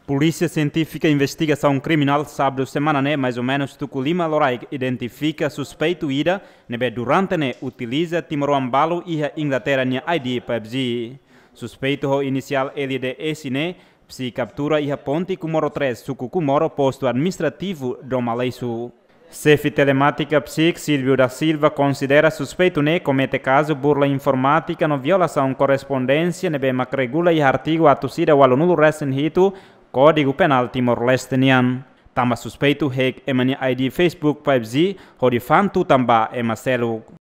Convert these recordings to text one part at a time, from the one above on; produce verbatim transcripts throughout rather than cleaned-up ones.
Polísia Sientífika Investigasaun Kriminál sábadu semana ne'e, mais ou menus tuku lima loraik, identifika suspeitu ida ne'ebé durante ne'e utiliza timoroan balu iha Inglaterra nia I D PUBG. Suspeitu ho inisiál L D S ne'e, psi kaptura iha ponte Comoro três, suku Comoro, postu administrativu Dom Aleixo. Xefe telemátika PSIK, Silvio da Silva, konsidera suspeitu ne'e komete kazu burla informátika no violasaun korrespondénsia ne'ebé mak regula iha artigu atus ida ualunulu resin hitu Kódigu Penál Timor-Leste nian. Tanba suspeitu hack ema nia I D Facebook PUBG hodi fa'an tutan ba ema seluk.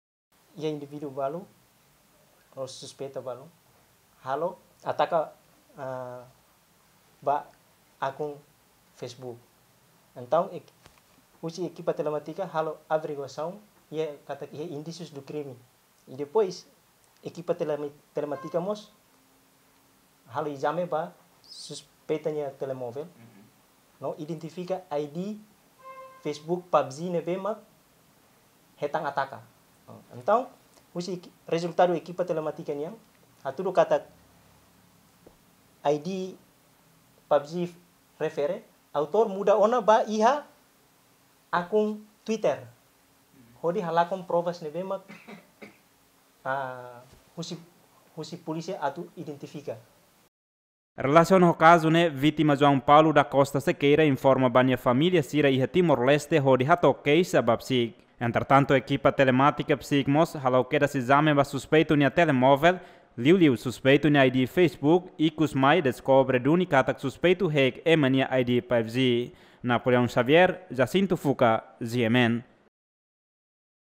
Iha indivíduu balu, ou suspeita balu, halo ataka, ah, ba akun Facebook. Entaun, ek-, husi ekipa telemátika halo averiguasaun, iha katak iha indísius do crime. I depois, ekipa telema-, telemátika mós halo ezame ba suspeita nia telemóvel, no identifika I D Facebook PUBG ne'ebé mak hetan ataka. Entaun, husi eki-, rezultadu ekipa telemátika nian hatudu katak I D PUBG refere, autór muda ona ba iha akun Twitter, hodi halakon provas ne'ebé mak, ah, husi, husi polísia atu identifika. Relasiona ho kazu ne'e, vítima João Paulo da Costa Sequeira informa ba nia família sira iha Timor-Leste hodi hato'o keixa ba PSIK. Entretantu, ekipa telemátika PSIK mós halo kedas ezame ba suspeitu nia telemóvel, liuliu suspeitu nia I D Facebook, ikus mai deskobre duni katak suspeitu hack ema nia I D PUBG. Napoleão Xavier, Jacinto Fuca, G M N.